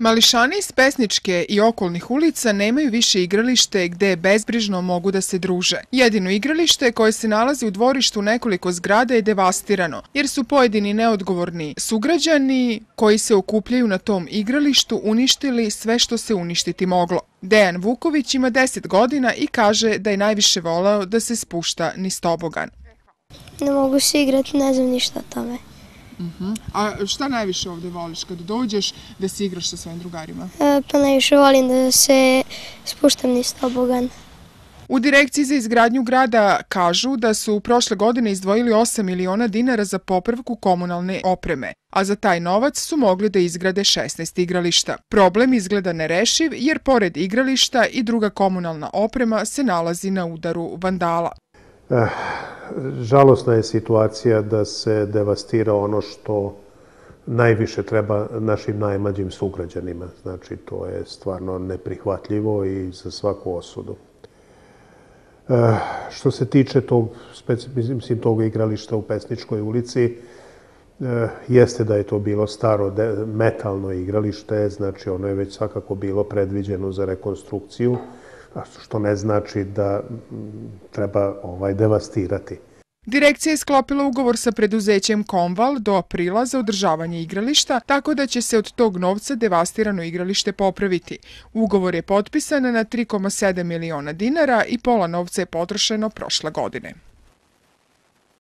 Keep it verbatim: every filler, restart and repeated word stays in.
Mališani iz Pesničke i okolnih ulica nemaju više igralište gde bezbrižno mogu da se druže. Jedino igralište koje se nalazi u dvorištu nekoliko zgrada je devastirano, jer su pojedini neodgovorni sugrađani koji se okupljaju na tom igralištu uništili sve što se uništiti moglo. Dejan Vuković ima deset godina i kaže da je najviše voleo da se spušta niz tobogan. Ne mogu se igrati, ne znam ništa o tome. Uh-huh. A šta najviše ovde voliš kad dođeš da se igraš sa svojim drugarima? E, pa najviše volim da se spuštam niz tobogan. U Direkciji za izgradnju grada kažu da su prošle godine izdvojili osam miliona dinara za popravku komunalne opreme, a za taj novac su mogli da izgrade šesnaest igrališta. Problem izgleda nerešiv jer pored igrališta i druga komunalna oprema se nalazi na udaru vandala. Eh, žalosna je situacija da se devastira ono što najviše treba našim najmlađim sugrađanima. Znači, to je stvarno neprihvatljivo i za svaku osudu. Eh, što se tiče tog, mislim, tog igrališta u Pesničkoj ulici, eh, jeste da je to bilo staro de, metalno igralište, znači ono je već svakako bilo predviđeno za rekonstrukciju, što ne znači da treba ovaj devastirati. Direkcija je sklopila ugovor sa preduzećem Komval do aprila za održavanje igrališta, tako da će se od tog novca devastirano igralište popraviti. Ugovor je potpisan na tri zarez sedam miliona dinara i pola novca je potrošeno prošle godine.